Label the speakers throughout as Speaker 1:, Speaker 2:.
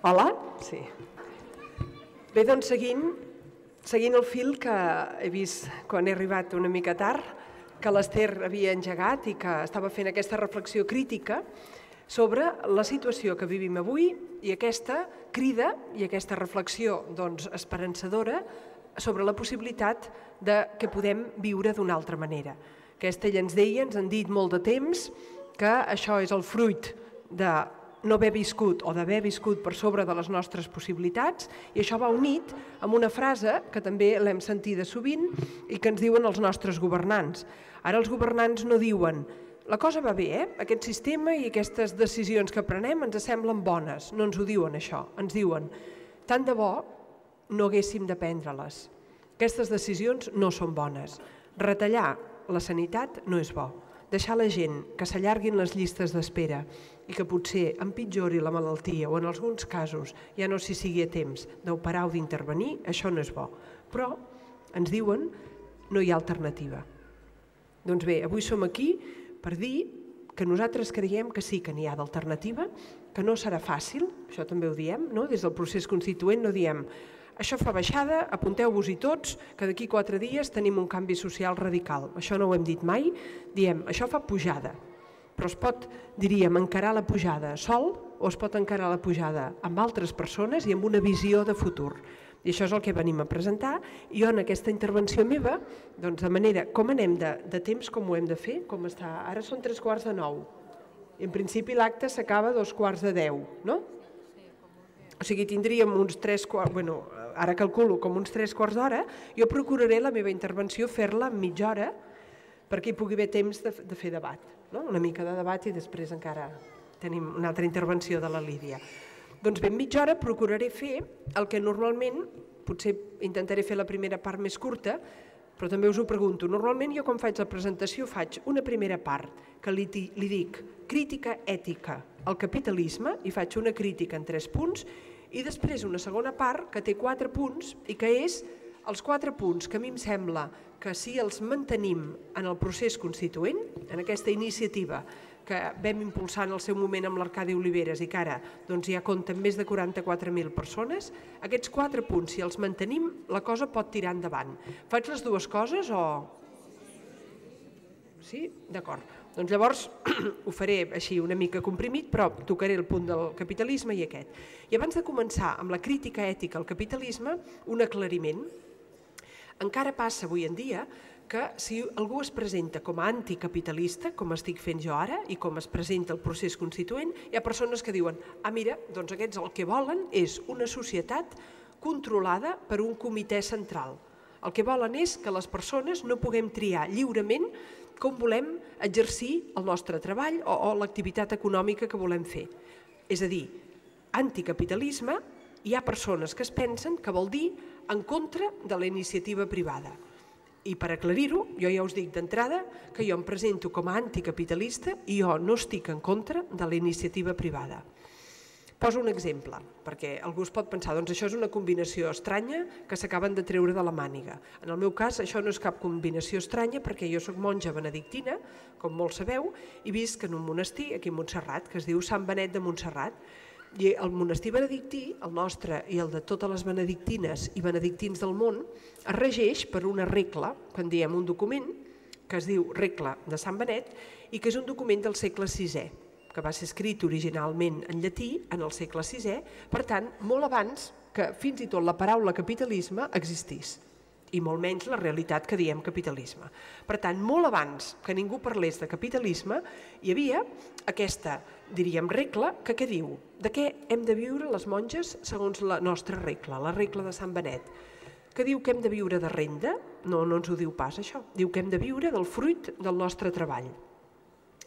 Speaker 1: Hola? Sí. Bé, doncs seguint el fil que he vist quan he arribat una mica tard, que l'Ester havia engegat i que estava fent aquesta reflexió crítica sobre la situació que vivim avui i aquesta crida i aquesta reflexió esperançadora sobre la possibilitat que podem viure d'una altra manera. Aquesta ella ens deia, ens han dit molt de temps que això és el fruit de no haver viscut o d'haver viscut per sobre de les nostres possibilitats, i això va unit amb una frase que també l'hem sentida sovint i que ens diuen els nostres governants. Ara els governants no diuen la cosa va bé, aquest sistema i aquestes decisions que prenem ens semblen bones, no ens ho diuen això, ens diuen tant de bo no haguéssim de prendre-les. Aquestes decisions no són bones. Retallar la sanitat no és bo. Deixar la gent que s'allarguin les llistes d'espera i que potser empitjori la malaltia o en alguns casos ja no s'hi sigui a temps d'operar o d'intervenir, això no és bo. Però ens diuen no hi ha alternativa. Doncs bé, avui som aquí per dir que nosaltres creiem que sí que n'hi ha d'alternativa, que no serà fàcil, això també ho diem, no? Des del procés constituent no diem això fa baixada, apunteu-vos-hi tots, que d'aquí 4 dies tenim un canvi social radical. Això no ho hem dit mai, diem això fa pujada, però es pot, diríem, encarar la pujada sol o es pot encarar la pujada amb altres persones i amb una visió de futur. I això és el que venim a presentar i jo en aquesta intervenció meva, doncs de manera, com anem de temps, com ho hem de fer, com està, ara són 8:45. En principi l'acte s'acaba a 9:45, no? O sigui, tindríem uns 3 quarts, bueno, ara calculo com uns 3/4 d'hora, jo procuraré la meva intervenció fer-la en mitja hora perquè hi pugui haver temps de fer debat, no? Una mica de debat i després encara tenim una altra intervenció de la Lídia. Doncs bé, en mitja hora procuraré fer el que normalment, potser intentaré fer la primera part més curta, però també us ho pregunto, normalment jo quan faig la presentació faig una primera part que li dic crítica ètica al capitalisme i faig una crítica en 3 punts i després una segona part que té 4 punts i que és els 4 punts que a mi em sembla que si els mantenim en el procés constituent, en aquesta iniciativa que vam impulsar en el seu moment amb l'Arcadi Oliveres i que ara ja compta amb més de 44.000 persones, aquests 4 punts, si els mantenim, la cosa pot tirar endavant. Faig les dues coses o...? Sí? D'acord. Doncs llavors ho faré així una mica comprimit, però tocaré el punt del capitalisme i aquest. I abans de començar amb la crítica ètica al capitalisme, un aclariment. Encara passa avui en dia que si algú es presenta com a anticapitalista, com estic fent jo ara, i com es presenta el procés constituent, hi ha persones que diuen mira, doncs aquests el que volen és una societat controlada per un comitè central. El que volen és que les persones no puguem triar lliurement com volem exercir el nostre treball o l'activitat econòmica que volem fer. És a dir, anticapitalisme, hi ha persones que es pensen que vol dir en contra de la iniciativa privada. I per aclarir-ho, jo ja us dic d'entrada que jo em presento com a anticapitalista i jo no estic en contra de la iniciativa privada. Poso un exemple, perquè algú es pot pensar, doncs això és una combinació estranya que s'acaben de treure de la màniga. En el meu cas, això no és cap combinació estranya perquè jo soc monja benedictina, com molts sabeu, i visc en un monestir aquí a Montserrat, que es diu Sant Benet de Montserrat. I el monestir benedictí, el nostre i el de totes les benedictines i benedictins del món, es regeix per una regla, que en diem un document, que es diu Regla de Sant Benet, i que és un document del segle VI, que va ser escrit originalment en llatí en el segle VI, per tant, molt abans que fins i tot la paraula capitalisme existís, i molt menys la realitat que diem capitalisme. Per tant, molt abans que ningú parlés de capitalisme, hi havia aquesta, diríem, regla que què diu? De què hem de viure les monges segons la nostra regla, la regla de Sant Benet? Que diu que hem de viure de renda? No, no ens ho diu pas això. Diu que hem de viure del fruit del nostre treball.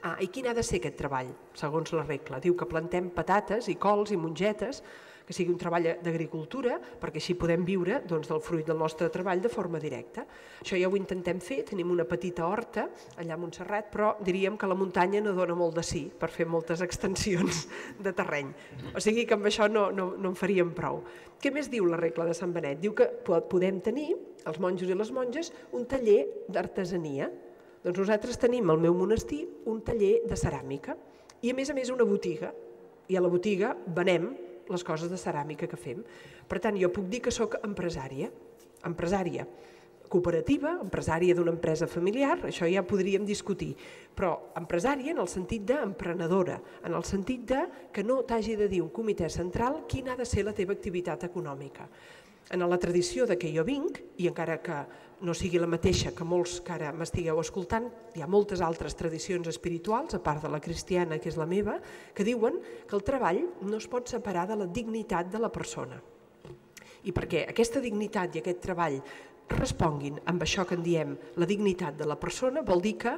Speaker 1: I quin ha de ser aquest treball, segons la regla? Diu que plantem patates i cols i mongetes, que sigui un treball d'agricultura, perquè així podem viure del fruit del nostre treball de forma directa. Això ja ho intentem fer, tenim una petita horta allà a Montserrat, però diríem que la muntanya no dona molt de sí per fer moltes extensions de terreny. O sigui que amb això no en faríem prou. Què més diu la regla de Sant Benet? Diu que podem tenir, els monjos i les monges, un taller d'artesania. Doncs nosaltres tenim al meu monestir un taller de ceràmica i a més una botiga. I a la botiga venem les coses de ceràmica que fem. Per tant, jo puc dir que sóc empresària cooperativa, empresària d'una empresa familiar, això ja podríem discutir, però empresària en el sentit d'emprenedora, en el sentit que no t'hagi de dir un comitè central quina ha de ser la teva activitat econòmica. En la tradició de què jo vinc, i encara que no sigui la mateixa que molts que ara m'estigueu escoltant, hi ha moltes altres tradicions espirituals, a part de la cristiana, que és la meva, que diuen que el treball no es pot separar de la dignitat de la persona. I perquè aquesta dignitat i aquest treball responguin amb això que en diem la dignitat de la persona, vol dir que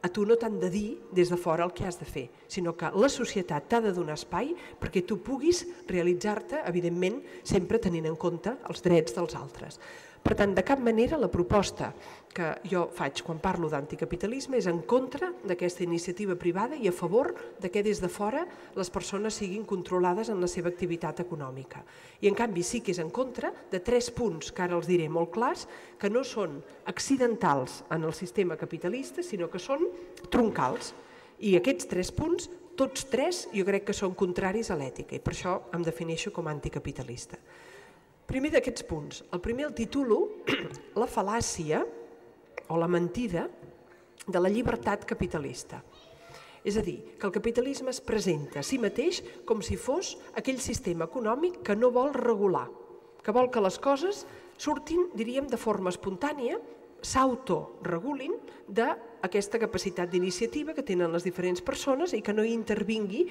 Speaker 1: a tu no t'han de dir des de fora el que has de fer, sinó que la societat t'ha de donar espai perquè tu puguis realitzar-te, evidentment, sempre tenint en compte els drets dels altres. Per tant, de cap manera la proposta que jo faig quan parlo d'anticapitalisme és en contra d'aquesta iniciativa privada i a favor de que des de fora les persones siguin controlades en la seva activitat econòmica. I en canvi sí que és en contra de 3 punts que ara els diré molt clars, que no són accidentals en el sistema capitalista, sinó que són troncals. I aquests 3 punts, tots 3, jo crec que són contraris a l'ètica i per això em defineixo com a anticapitalista. Primer d'aquests punts. El primer el titulo La fal·làcia o la mentida de la llibertat capitalista. És a dir, que el capitalisme es presenta a si mateix com si fos aquell sistema econòmic que no vol regular, que vol que les coses surtin, diríem, de forma espontània, s'autoregulin d'aquesta capacitat d'iniciativa que tenen les diferents persones i que no hi intervingui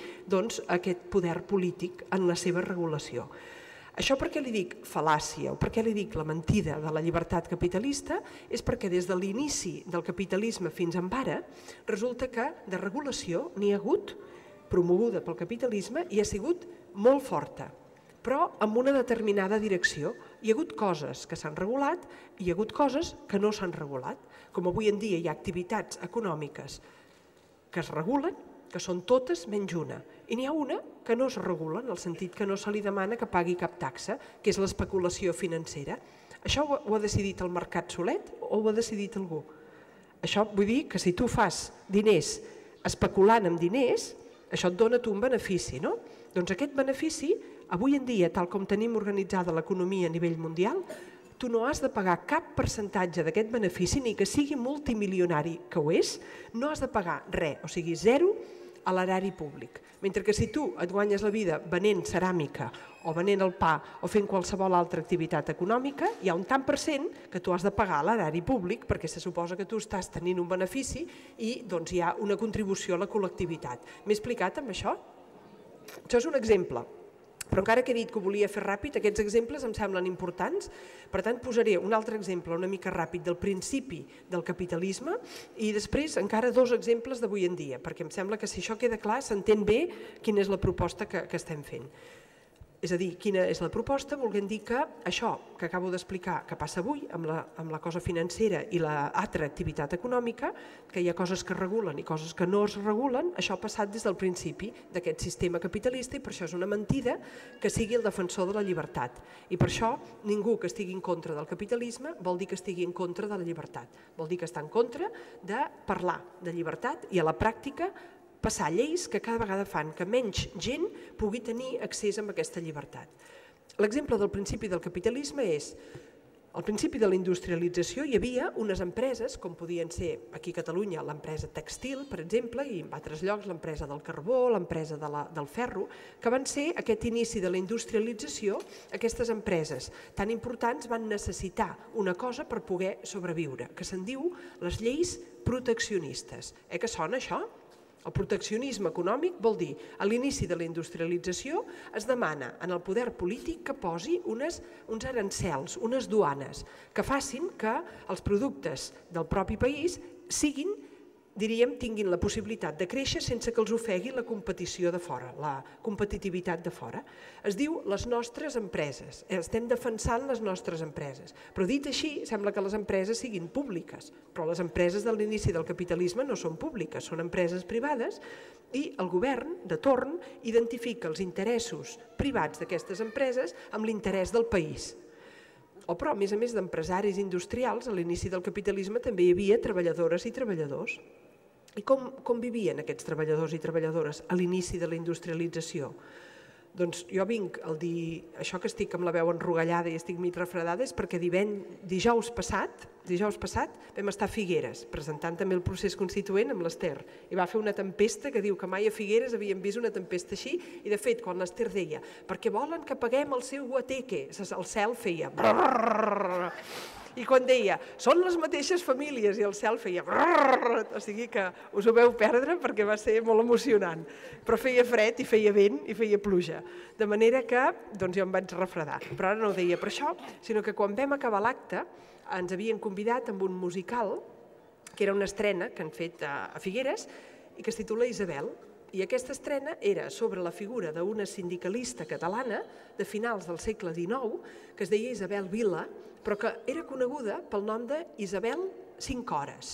Speaker 1: aquest poder polític en la seva regulació. Això per què li dic fal·làcia o per què li dic la mentida de la llibertat capitalista és perquè des de l'inici del capitalisme fins en ara resulta que de regulació n'hi ha hagut, promoguda pel capitalisme, i ha sigut molt forta, però amb una determinada direcció. Hi ha hagut coses que s'han regulat i hi ha hagut coses que no s'han regulat. Com avui en dia hi ha activitats econòmiques que es regulen, que són totes menys una. I n'hi ha una que no es regula, en el sentit que no se li demana que pagui cap taxa, que és l'especulació financera. Això ho ha decidit el mercat solet o ho ha decidit algú? Això vull dir que si tu fas diners especulant amb diners, això et dona tu un benefici, no? Doncs aquest benefici, avui en dia, tal com tenim organitzada l'economia a nivell mundial, tu no has de pagar cap percentatge d'aquest benefici, ni que sigui multimilionari que ho és, no has de pagar res, o sigui, zero, a l'erari públic. Mentre que si tu et guanyes la vida venent ceràmica o venent el pa o fent qualsevol altra activitat econòmica, hi ha un tant per cent que tu has de pagar a l'erari públic perquè se suposa que tu estàs tenint un benefici i doncs hi ha una contribució a la col·lectivitat. M'he explicat amb això? Això és un exemple. Però encara que he dit que ho volia fer ràpid, aquests exemples em semblen importants. Per tant, posaré un altre exemple una mica ràpid del principi del capitalisme i després encara 2 exemples d'avui en dia, perquè em sembla que si això queda clar s'entén bé quina és la proposta que estem fent. És a dir, quina és la proposta? Volguem dir que això que acabo d'explicar que passa avui amb la cosa financera i l'altra activitat econòmica, que hi ha coses que es regulen i coses que no es regulen, això ha passat des del principi d'aquest sistema capitalista i per això és una mentida que sigui el defensor de la llibertat. I per això ningú que estigui en contra del capitalisme vol dir que estigui en contra de la llibertat. Vol dir que està en contra de parlar de llibertat i a la pràctica passar lleis que cada vegada fan que menys gent pugui tenir accés a aquesta llibertat. L'exemple del principi del capitalisme és, al principi de la industrialització hi havia unes empreses, com podien ser aquí a Catalunya l'empresa tèxtil, per exemple, i en altres llocs l'empresa del carbó, l'empresa del ferro, que van ser aquest inici de la industrialització. Aquestes empreses tan importants van necessitar una cosa per poder sobreviure, que se'n diu les lleis proteccionistes. Que sona això? El proteccionisme econòmic vol dir, a l'inici de la industrialització es demana en el poder polític que posi uns arancels, unes duanes, que facin que els productes del propi país siguin, diríem, tinguin la possibilitat de créixer sense que els ofegui la competició de fora, la competitivitat de fora. Es diu les nostres empreses, estem defensant les nostres empreses, però dit així sembla que les empreses siguin públiques, però les empreses de l'inici del capitalisme no són públiques, són empreses privades i el govern de torn identifica els interessos privats d'aquestes empreses amb l'interès del país. Però, a més d'empresaris industrials, a l'inici del capitalisme també hi havia treballadores i treballadors. I com vivien aquests treballadors i treballadores a l'inici de la industrialització? Doncs jo vinc el dir, això que estic amb la veu enrogallada i estic mig refredada és perquè dijous passat vam estar a Figueres presentant també el procés constituent amb l'Ester i va fer una tempesta que diu que mai a Figueres havíem vist una tempesta així i de fet quan l'Ester deia perquè volen que paguem el seu guateque, el cel feia brrrr, i quan deia són les mateixes famílies i el cel feia brrrr, o sigui que us ho veu perdre perquè va ser molt emocionant, però feia fred i feia vent i feia pluja, de manera que doncs jo em vaig refredar, però ara no ho deia per això, sinó que quan vam acabar l'acte ens havien convidat amb un musical que era una estrena que han fet a Figueres i que es titula Isabel. I aquesta estrena era sobre la figura d'una sindicalista catalana de finals del segle XIX que es deia Isabel Vila, però que era coneguda pel nom d'Isabel 5 hores.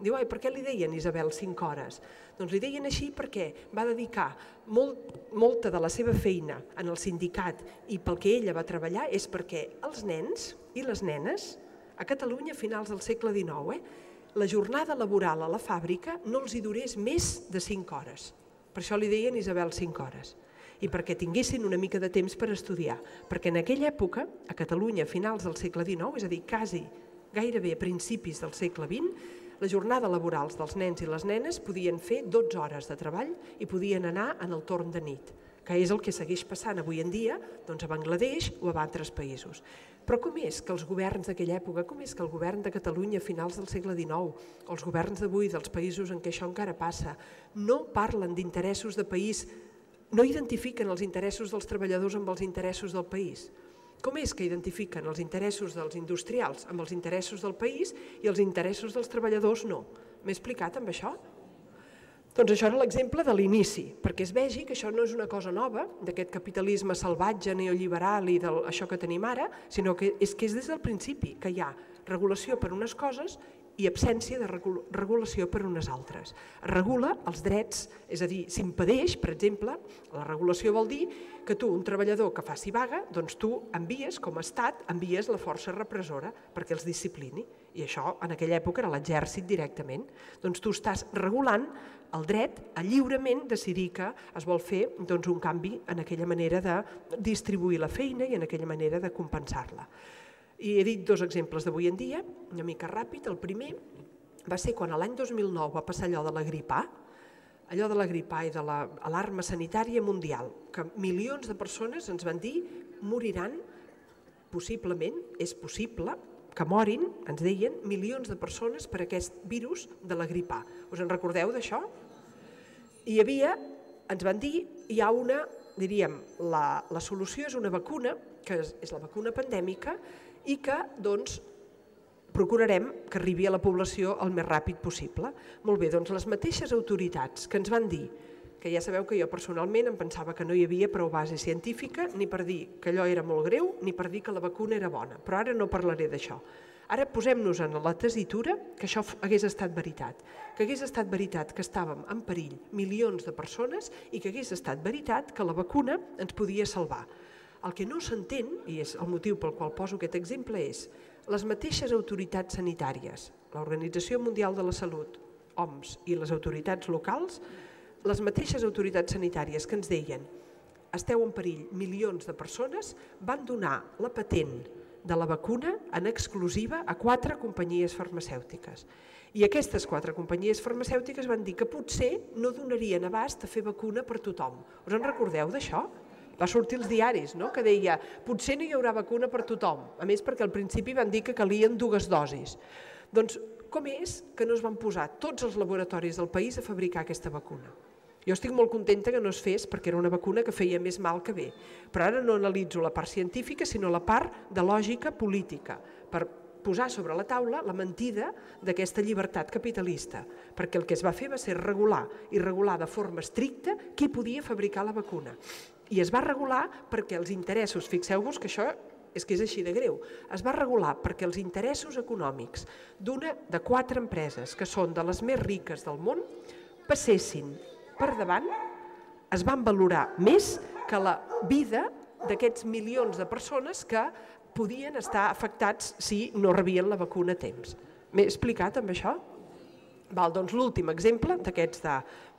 Speaker 1: Diu, per què li deien Isabel 5 hores? Doncs li deien així perquè va dedicar molta de la seva feina en el sindicat i pel que ella va treballar és perquè els nens i les nenes a Catalunya a finals del segle XIX la jornada laboral a la fàbrica no els hi durés més de 5 hores. Per això li deien Isabel 5 hores. I perquè tinguessin una mica de temps per estudiar. Perquè en aquella època, a Catalunya, a finals del segle XIX, és a dir, gairebé a principis del segle XX, la jornada laboral dels nens i les nenes podien fer 12 hores de treball i podien anar en el torn de nit, que és el que segueix passant avui en dia a Bangladesh o a altres països. Però com és que els governs d'aquella època, com és que el govern de Catalunya a finals del segle XIX, o els governs d'avui dels països en què això encara passa, no parlen d'interessos de país, no identifiquen els interessos dels treballadors amb els interessos del país? Com és que identifiquen els interessos dels industrials amb els interessos del país i els interessos dels treballadors no? M'he explicat amb això? Doncs això era l'exemple de l'inici, perquè es vegi que això no és una cosa nova, d'aquest capitalisme salvatge, neoliberal i d'això que tenim ara, sinó que és des del principi que hi ha regulació per unes coses i absència de regulació per unes altres. Es regula els drets, és a dir, s'impedeix, per exemple, la regulació vol dir que tu, un treballador que faci vaga, doncs tu envies, com a estat, envies la força repressora perquè els disciplini. I això en aquella època era l'exèrcit directament. Doncs tu estàs regulant el dret a lliurement decidir que es vol fer un canvi en aquella manera de distribuir la feina i en aquella manera de compensar-la. I he dit 2 exemples d'avui en dia, una mica ràpid. El primer va ser quan l'any 2009 va passar allò de la grip A i de l'alarma sanitària mundial, que milions de persones ens van dir moriran, possiblement, és possible, que morin, ens deien, milions de persones per aquest virus de la grip A. Us en recordeu d'això? Hi havia, ens van dir, hi ha una, diríem, la solució és una vacuna, que és la vacuna pandèmica, i que, doncs, procurarem que arribi a la població el més ràpid possible. Molt bé, doncs les mateixes autoritats que ens van dir, que ja sabeu que jo personalment em pensava que no hi havia prou base científica ni per dir que allò era molt greu ni per dir que la vacuna era bona, però ara no parlaré d'això. Ara posem-nos en la tessitura que això hagués estat veritat, que hagués estat veritat que estàvem en perill milions de persones i que hagués estat veritat que la vacuna ens podia salvar. El que no s'entén, i és el motiu pel qual poso aquest exemple, és les mateixes autoritats sanitàries, l'Organització Mundial de la Salut, OMS, i les autoritats locals, les mateixes autoritats sanitàries que ens deien esteu en perill milions de persones, van donar la patent de la vacuna en exclusiva a 4 companyies farmacèutiques. I aquestes 4 companyies farmacèutiques van dir que potser no donarien abast a fer vacuna per tothom. Us en recordeu d'això? Va sortir als diaris, no?, que deia potser no hi haurà vacuna per tothom, a més perquè al principi van dir que calien 2 dosis. Doncs com és que no es van posar tots els laboratoris del país a fabricar aquesta vacuna? Jo estic molt contenta que no es fes perquè era una vacuna que feia més mal que bé, però ara no analitzo la part científica sinó la part de lògica política, per posar sobre la taula la mentida d'aquesta llibertat capitalista, perquè el que es va fer va ser regular i regular de forma estricta qui podia fabricar la vacuna. I es va regular perquè els interessos, fixeu-vos que això és que és així de greu, es va regular perquè els interessos econòmics de 4 empreses que són de les més riques del món passessin per davant, es van valorar més que la vida d'aquests milions de persones que podien estar afectats si no rebien la vacuna a temps. M'he explicat amb això? Doncs l'últim exemple d'aquests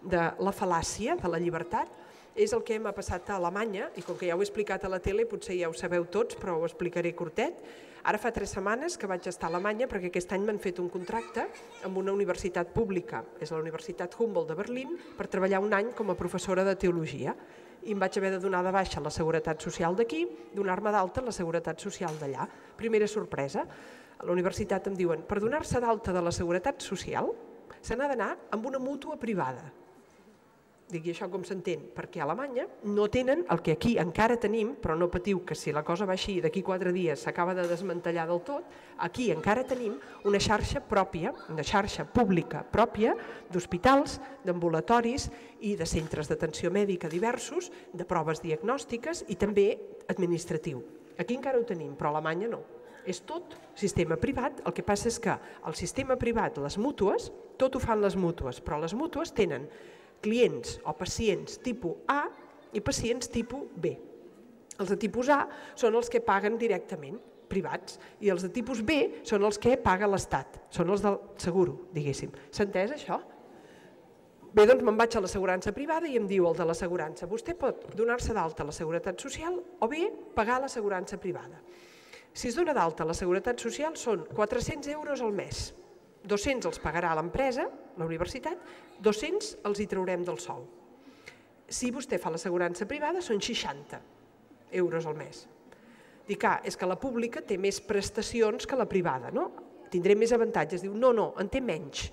Speaker 1: de la fal·làcia de la llibertat és el que m'ha passat a Alemanya, i com que ja ho he explicat a la tele, potser ja ho sabeu tots, però ho explicaré curtet. Ara fa 3 setmanes que vaig estar a Alemanya perquè aquest any m'han fet un contracte amb una universitat pública, és la Universitat Humboldt de Berlín, per treballar un any com a professora de teologia. I em vaig haver de donar de baixa la Seguretat Social d'aquí, donar-me d'alta la Seguretat Social d'allà. Primera sorpresa, a la universitat em diuen, per donar-se d'alta de la Seguretat Social se n'ha d'anar amb una mútua privada. Dic, i això com s'entén? Perquè a Alemanya no tenen el que aquí encara tenim, però no patiu que si la cosa va així d'aquí 4 dies s'acaba de desmantellar del tot, aquí encara tenim una xarxa pròpia, una xarxa pública pròpia d'hospitals, d'ambulatoris i de centres d'atenció mèdica diversos, de proves diagnòstiques i també administratiu. Aquí encara ho tenim, però a Alemanya no. És tot sistema privat, el que passa és que el sistema privat, les mútues, tot ho fan les mútues, però les mútues tenen clients o pacients tipus A i pacients tipus B. Els de tipus A són els que paguen directament, privats, i els de tipus B són els que paga l'Estat, són els del seguro, diguéssim. S'ha entès això? Bé, doncs me'n vaig a l'assegurança privada i em diu el de l'assegurança, vostè pot donar-se d'alta a la Seguretat Social o bé pagar l'assegurança privada. Si es dona d'alta a la Seguretat Social són 400 euros al mes. 200 els pagarà l'empresa, la universitat, 200 els hi traurem del sou. Si vostè fa l'assegurança privada són 60 euros al mes. Dic, és que la pública té més prestacions que la privada, no? Tindré més avantatges. Diu, no, en té menys.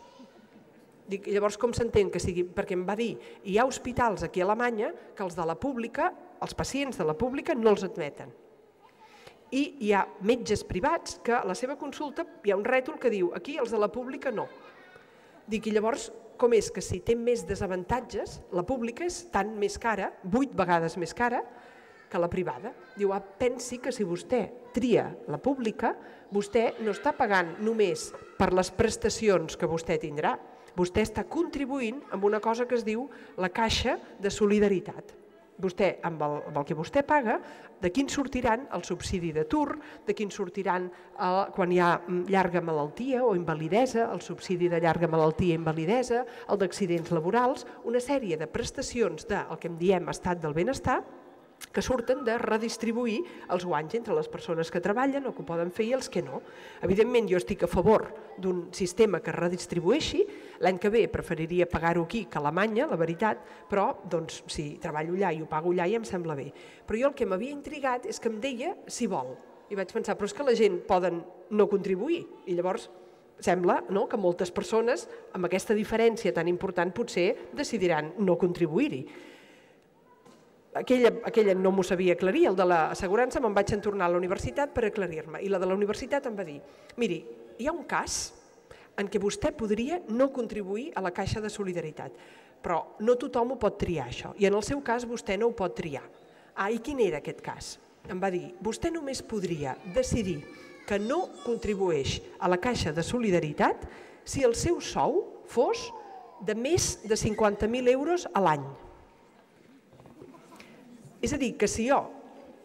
Speaker 1: Dic, llavors com s'entén que sigui? Perquè em va dir, hi ha hospitals aquí a Alemanya que els de la pública, els pacients de la pública no els admeten. I hi ha metges privats que a la seva consulta hi ha un rètol que diu aquí els de la pública no. Dic, i llavors com és que si té més desavantatges, la pública és tant més cara, 8 vegades més cara, que la privada. Diu, pensi que si vostè tria la pública, vostè no està pagant només per les prestacions que vostè tindrà, vostè està contribuint amb una cosa que es diu la caixa de solidaritat. Vostè, amb el que vostè paga, de quin sortiran el subsidi d'atur, de quin sortiran quan hi ha llarga malaltia o invalidesa, el subsidi de llarga malaltia i invalidesa, el d'accidents laborals, una sèrie de prestacions del que en diem estat del benestar, que surten de redistribuir els guanys entre les persones que treballen o que ho poden fer i els que no. Evidentment, jo estic a favor d'un sistema que redistribueixi. L'any que ve preferiria pagar-ho aquí que a Alemanya, la veritat, però si treballo allà i ho pago allà ja em sembla bé. Però jo el que m'havia intrigat és que em deia si vol. I vaig pensar, però és que la gent poden no contribuir. I llavors sembla que moltes persones amb aquesta diferència tan important potser decidiran no contribuir-hi. Aquella no m'ho sabia aclarir, el de l'assegurança me'n vaig tornar a la universitat per aclarir-me i la de la universitat em va dir, miri, hi ha un cas en què vostè podria no contribuir a la caixa de solidaritat, però no tothom ho pot triar això i en el seu cas vostè no ho pot triar. I quin era aquest cas? Em va dir, vostè només podria decidir que no contribueix a la caixa de solidaritat si el seu sou fos de més de 50.000 euros a l'any. És a dir, que si jo,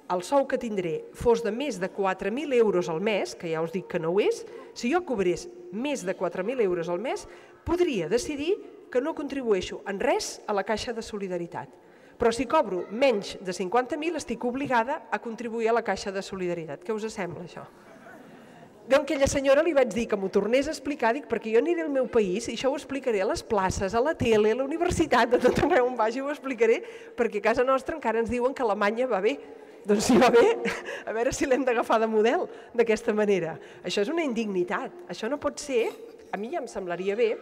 Speaker 1: el sou que tindré fos de més de 4.000 euros al mes, que ja us dic que no ho és, si jo cobrés més de 4.000 euros al mes, podria decidir que no contribueixo en res a la caixa de solidaritat. Però si cobro menys de 50.000, estic obligada a contribuir a la caixa de solidaritat. Què us sembla, això? Doncs aquella senyora li vaig dir que m'ho tornés a explicar, dic, perquè jo aniré al meu país i això ho explicaré a les places, a la tele, a la universitat, a tot arreu on vagi ho explicaré, perquè a casa nostra encara ens diuen que Alemanya va bé. Doncs si va bé, a veure si l'hem d'agafar de model d'aquesta manera. Això és una indignitat, això no pot ser, a mi ja em semblaria bé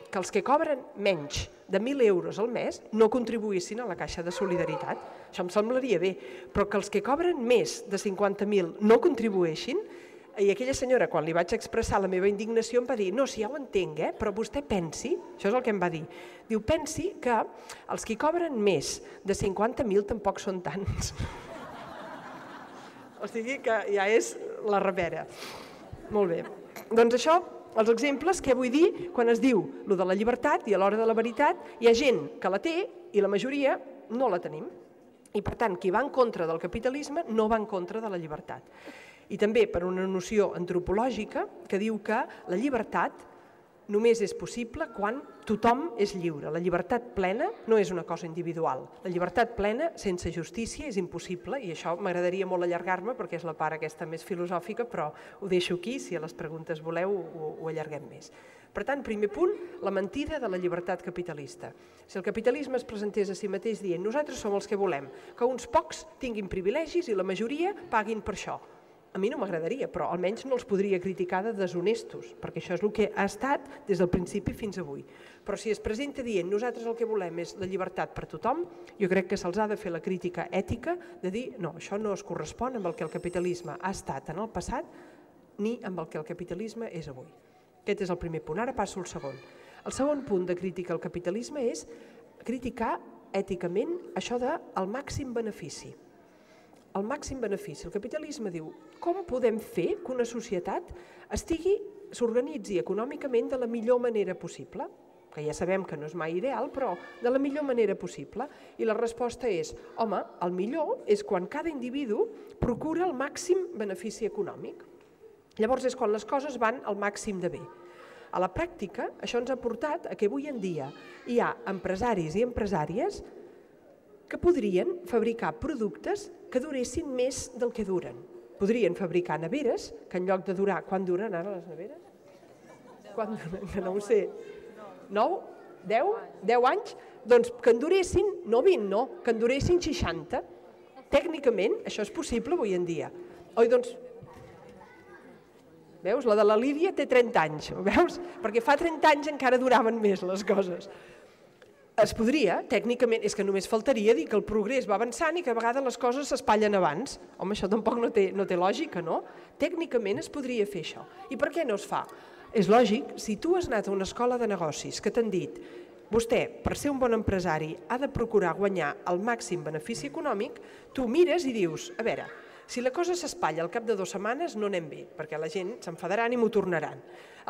Speaker 1: que els que cobren menys de 1.000 euros al mes no contribuïssin a la caixa de solidaritat. Això em semblaria bé, però que els que cobren més de 50.000 no contribueixin. I aquella senyora, quan li vaig expressar la meva indignació, em va dir, no, si ja ho entenc, però vostè pensi, això és el que em va dir, diu, pensi que els que cobren més de 50.000 tampoc són tants. O sigui que ja és la repera. Molt bé. Doncs això, els exemples, què vull dir? Quan es diu lo de la llibertat i a l'hora de la veritat, hi ha gent que la té i la majoria no la tenim. I per tant, qui va en contra del capitalisme no va en contra de la llibertat. I també per una noció antropològica que diu que la llibertat només és possible quan tothom és lliure. La llibertat plena no és una cosa individual. La llibertat plena sense justícia és impossible, i això m'agradaria molt allargar-me perquè és la part aquesta més filosòfica, però ho deixo aquí, si a les preguntes voleu ho allarguem més. Per tant, primer punt, la mentida de la llibertat capitalista. Si el capitalisme es presentés a si mateix dient nosaltres som els que volem, que uns pocs tinguin privilegis i la majoria paguin per això. A mi no m'agradaria, però almenys no els podria criticar de deshonestos, perquè això és el que ha estat des del principi fins avui. Però si es presenta dient nosaltres el que volem és la llibertat per tothom, jo crec que se'ls ha de fer la crítica ètica de dir no, això no es correspon amb el que el capitalisme ha estat en el passat ni amb el que el capitalisme és avui. Aquest és el primer punt. Ara passo al segon. El segon punt de crítica al capitalisme és criticar èticament això del màxim benefici. El màxim benefici. El capitalisme diu com podem fer que una societat s'organitzi econòmicament de la millor manera possible, que ja sabem que no és mai ideal, però de la millor manera possible. I la resposta és, home, el millor és quan cada individu procura el màxim benefici econòmic. Llavors és quan les coses van al màxim de bé. A la pràctica, això ens ha portat a que avui en dia hi ha empresaris i empresàries que podrien fabricar productes que duressin més del que duren. Podrien fabricar neveres, que en lloc de durar... Quan duren ara les neveres? Quan duren? Que no ho sé. 9? 10? 10 anys? Doncs que en duressin, no 20, no, que en duressin 60. Tècnicament, això és possible avui en dia. Oi, doncs... Veus? La de la Lídia té 30 anys, veus? Perquè fa 30 anys encara duraven més les coses. Es podria, tècnicament, és que només faltaria dir que el progrés va avançant i que a vegades les coses s'espatllen abans. Home, això tampoc no té lògica, no? Tècnicament es podria fer això. I per què no es fa? És lògic, si tu has anat a una escola de negocis que t'han dit vostè, per ser un bon empresari, ha de procurar guanyar el màxim benefici econòmic, tu mires i dius, a veure, si la cosa s'espatlla al cap de 2 setmanes no anem bé, perquè la gent s'enfadaran i m'ho tornaran.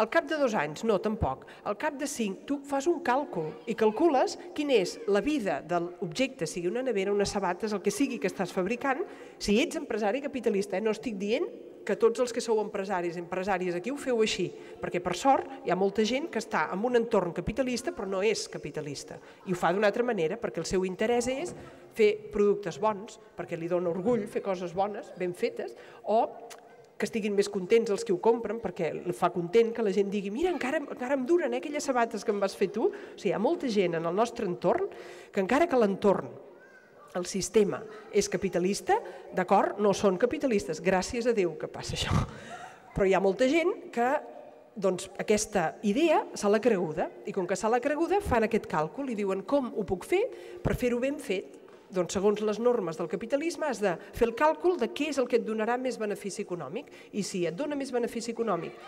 Speaker 1: Al cap de 2 anys, no, tampoc. Al cap de 5, tu fas un càlcul i calcules quina és la vida de l'objecte, sigui una nevera, unes sabates, el que sigui que estàs fabricant, si ets empresari capitalista. No estic dient que tots els que sou empresaris i empresàries aquí ho feu així, perquè per sort hi ha molta gent que està en un entorn capitalista però no és capitalista i ho fa d'una altra manera perquè el seu interès és fer productes bons, perquè li dona orgull fer coses bones, ben fetes, o que estiguin més contents els que ho compren, perquè el fa content que la gent digui mira, encara em duren aquelles sabates que em vas fer tu. O sigui, hi ha molta gent en el nostre entorn que encara que l'entorn, el sistema és capitalista, d'acord, no són capitalistes, gràcies a Déu que passa això. Però hi ha molta gent que aquesta idea se l'ha creguda, i com que se l'ha creguda fan aquest càlcul i diuen com ho puc fer per fer-ho ben fet. Doncs segons les normes del capitalisme has de fer el càlcul de què és el que et donarà més benefici econòmic i si et dona més benefici econòmic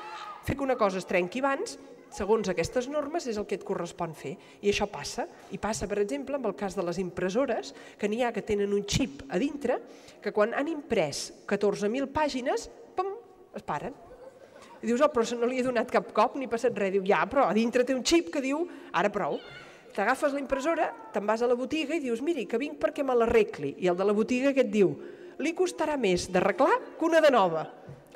Speaker 1: fer que una cosa es trenqui abans, segons aquestes normes és el que et correspon fer i això passa, i passa per exemple amb el cas de les impressores que n'hi ha que tenen un xip a dintre que quan han imprès 14.000 pàgines, pum, es paren. I dius, oh, però no li he donat cap cop ni passat res, diu, ja, però a dintre té un xip que diu, ara prou. T'agafes la impressora, te'n vas a la botiga i dius, miri, que vinc perquè me l'arregli. I el de la botiga què et diu? Li costarà més d'arreglar que una de nova.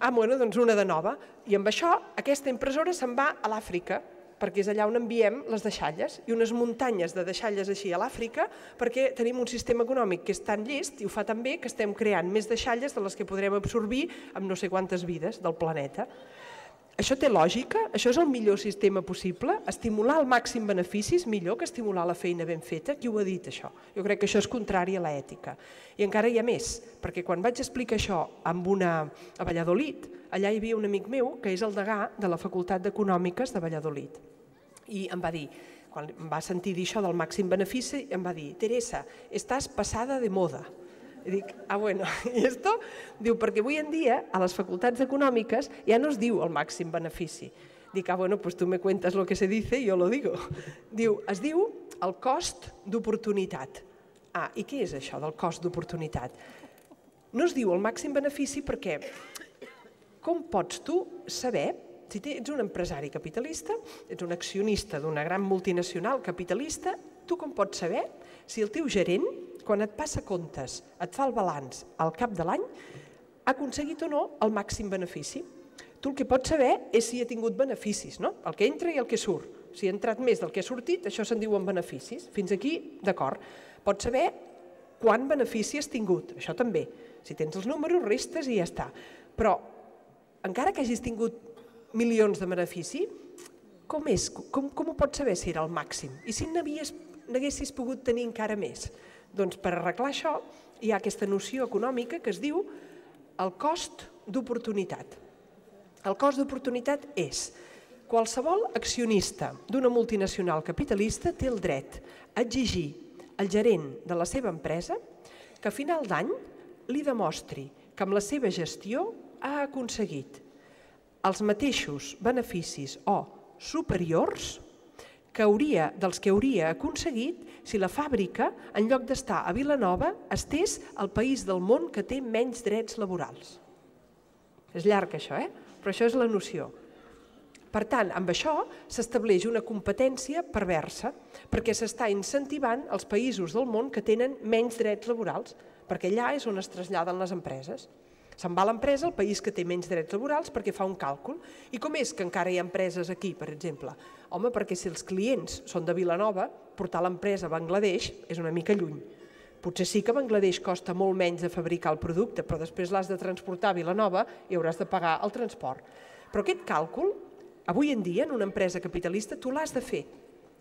Speaker 1: Ah, bueno, doncs una de nova. I amb això, aquesta impressora se'n va a l'Àfrica, perquè és allà on enviem les deixalles, i unes muntanyes de deixalles així a l'Àfrica, perquè tenim un sistema econòmic que és tan llest i ho fa tan bé que estem creant més deixalles de les que podrem absorbir amb no sé quantes vides del planeta. Això té lògica? Això és el millor sistema possible? Estimular al màxim beneficis millor que estimular la feina ben feta? Qui ho ha dit, això? Jo crec que això és contrari a l'ètica. I encara hi ha més, perquè quan vaig explicar això a Valladolid, allà hi havia un amic meu que és el degà de la Facultat d'Econòmiques de Valladolid. I em va dir, quan em va sentir dir això del màxim benefici, em va dir, Teresa, estàs passada de moda. I dic, bueno, i esto? Diu, perquè avui en dia a les facultats econòmiques ja no es diu el màxim benefici. Dic, bueno, pues tu me cuentas lo que se dice y yo lo digo. Diu, es diu el cost d'oportunitat. I què és això del cost d'oportunitat? No es diu el màxim benefici perquè com pots tu saber, si ets un empresari capitalista, ets un accionista d'una gran multinacional capitalista, tu com pots saber si el teu gerent, quan et passa comptes, et fa el balanç al cap de l'any, ha aconseguit o no el màxim benefici? Tu el que pots saber és si ha tingut beneficis, no? El que entra i el que surt. Si ha entrat més del que ha sortit, això se'n diuen beneficis. Fins aquí, d'acord. Pots saber quant benefici has tingut, això també. Si tens els números, restes i ja està. Però, encara que hagis tingut milions de benefici, com és? Com ho pots saber si era el màxim? I si n'haguessis pogut tenir encara més? Doncs per arreglar això hi ha aquesta noció econòmica que es diu el cost d'oportunitat. El cost d'oportunitat és: qualsevol accionista d'una multinacional capitalista té el dret a exigir al gerent de la seva empresa que a final d'any li demostri que amb la seva gestió ha aconseguit els mateixos beneficis o superiors dels que hauria aconseguit si la fàbrica, en lloc d'estar a Vilanova, estés al país del món que té menys drets laborals. És llarg això, però això és la noció. Per tant, amb això s'estableix una competència perversa perquè s'està incentivant els països del món que tenen menys drets laborals, perquè allà és on es traslladen les empreses. Se'n va l'empresa al país que té menys drets laborals perquè fa un càlcul. I com és que encara hi ha empreses aquí, per exemple? Home, perquè si els clients són de Vilanova, portar l'empresa a Bangladesh és una mica lluny. Potser sí que a Bangladesh costa molt menys de fabricar el producte, però després l'has de transportar a Vilanova i hauràs de pagar el transport. Però aquest càlcul, avui en dia, en una empresa capitalista, tu l'has de fer.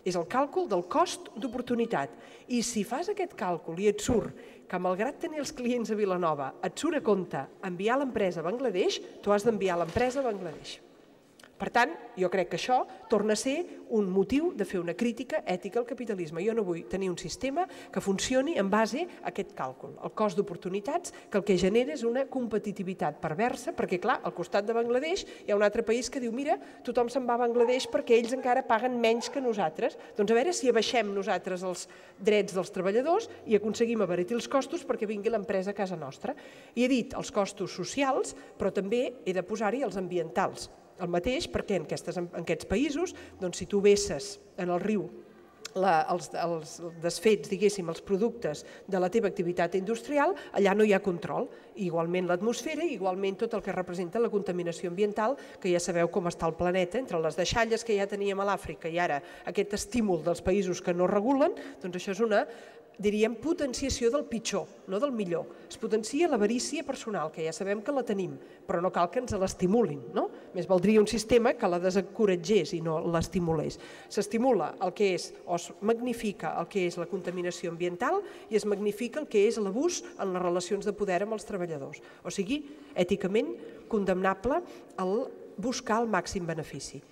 Speaker 1: És el càlcul del cost d'oportunitat. I si fas aquest càlcul i et surt que, malgrat tenir els clients a Vilanova, et surt a compte enviar l'empresa a Bangladesh, tu has d'enviar l'empresa a Bangladesh. Per tant, jo crec que això torna a ser un motiu de fer una crítica ètica al capitalisme. Jo no vull tenir un sistema que funcioni en base a aquest càlcul, el cost d'oportunitats, que el que genera és una competitivitat perversa, perquè, clar, al costat de Bangladesh hi ha un altre país que diu: mira, tothom se'n va a Bangladesh perquè ells encara paguen menys que nosaltres. Doncs a veure si abaixem nosaltres els drets dels treballadors i aconseguim abaratir els costos perquè vingui l'empresa a casa nostra. I he dit els costos socials, però també he de posar-hi els ambientals. El mateix perquè en aquests països, si tu vesses en el riu els desfets, diguéssim, els productes de la teva activitat industrial, allà no hi ha control. Igualment l'atmosfera, igualment tot el que representa la contaminació ambiental, que ja sabeu com està el planeta, entre les deixalles que ja teníem a l'Àfrica i ara aquest estímul dels països que no regulen, doncs això és una, diríem, potenciació del pitjor, no del millor. Es potencia l'avarícia personal, que ja sabem que la tenim, però no cal que ens l'estimulin, no? Més valdria un sistema que la desencoratgés i no l'estimulés. S'estimula el que és, o es magnifica el que és la contaminació ambiental i es magnifica el que és l'abús en les relacions de poder amb els treballadors. O sigui, èticament condemnable el buscar el màxim benefici.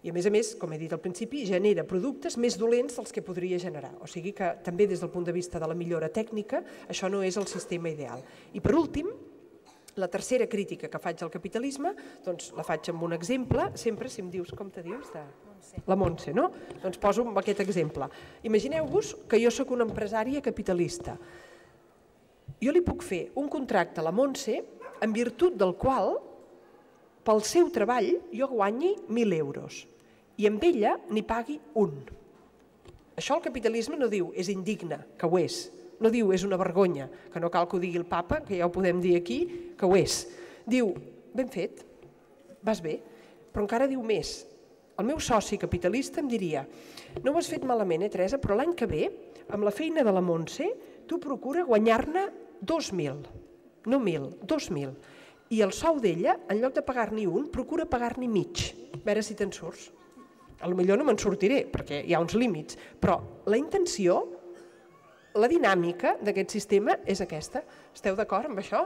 Speaker 1: I a més, com he dit al principi, genera productes més dolents dels que podria generar. O sigui que també des del punt de vista de la millora tècnica, això no és el sistema ideal. I per últim, la tercera crítica que faig al capitalisme, doncs la faig amb un exemple, sempre si em dius com te dius, la Montse, no? Doncs poso aquest exemple. Imagineu-vos que jo sóc una empresària capitalista. Jo li puc fer un contracte a la Montse en virtut del qual pel seu treball jo guanyi 1.000 euros i amb ella n'hi pagui un. Això el capitalisme no diu és indigne, que ho és. No diu és una vergonya, que no cal que ho digui el papa, que ja ho podem dir aquí, que ho és. Diu, ben fet, vas bé, però encara diu més. El meu soci capitalista em diria: no ho has fet malament, Teresa, però l'any que ve, amb la feina de la Montse, tu procura guanyar-ne 2.000, no 1.000, 2.000. I el sou d'ella, en lloc de pagar-n'hi un, procura pagar-n'hi mig. A veure si te'n surts. Potser no me'n sortiré, perquè hi ha uns límits, però la intenció, la dinàmica d'aquest sistema és aquesta. Esteu d'acord amb això?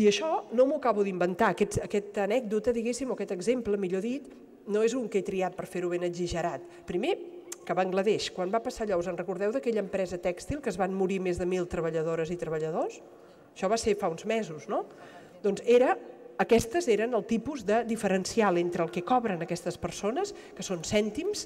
Speaker 1: I això no m'ho acabo d'inventar. Aquesta anècdota, diguéssim, o aquest exemple, millor dit, no és un que he triat per fer-ho ben exagerat. Primer, que a Bangladesh, quan va passar allò, us en recordeu d'aquella empresa tèxtil que es van morir més de 1.000 treballadores i treballadors? Això va ser fa uns mesos, no? Doncs aquestes eren el tipus de diferencial entre el que cobren aquestes persones, que són cèntims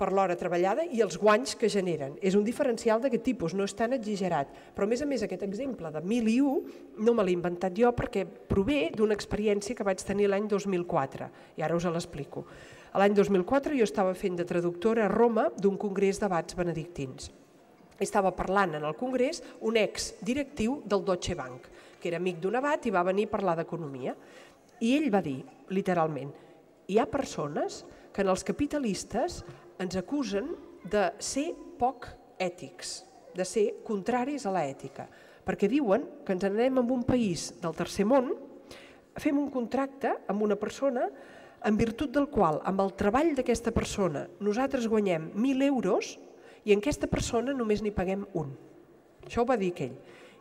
Speaker 1: per l'hora treballada, i els guanys que generen. És un diferencial d'aquest tipus, no és tan exagerat. Però a més aquest exemple de 1.001 no me l'he inventat jo perquè prové d'una experiència que vaig tenir l'any 2004, i ara us l'explico. L'any 2004 jo estava fent de traductora a Roma d'un congrés d'abats benedictins. Estava parlant en el congrés un exdirectiu del Deutsche Bank, que era amic d'un abat i va venir a parlar d'economia. I ell va dir, literalment, hi ha persones que en els capitalistes ens acusen de ser poc ètics, de ser contraris a l'ètica, perquè diuen que ens anem a un país del tercer món, fem un contracte amb una persona en virtut del qual, amb el treball d'aquesta persona, nosaltres guanyem 1.000 euros i en aquesta persona només n'hi paguem un. Això ho va dir aquell.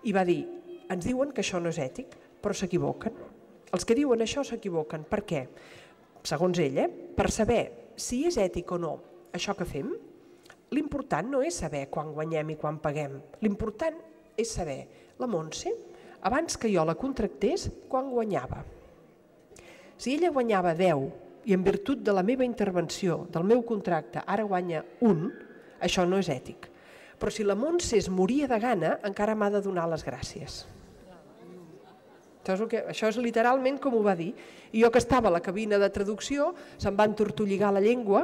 Speaker 1: I va dir, ens diuen que això no és ètic, però s'equivoquen. Els que diuen això s'equivoquen. Per què? Segons ell, per saber si és ètic o no això que fem, l'important no és saber quan guanyem i quan paguem. L'important és saber, la Montse, abans que jo la contractés, quan guanyava. Si ella guanyava 10 i en virtut de la meva intervenció, del meu contracte, ara guanya 1, això no és ètic. Però si la Montse es moria de gana, encara m'ha de donar les gràcies. Això és literalment com ho va dir. I jo que estava a la cabina de traducció, se'm va entortolligar la llengua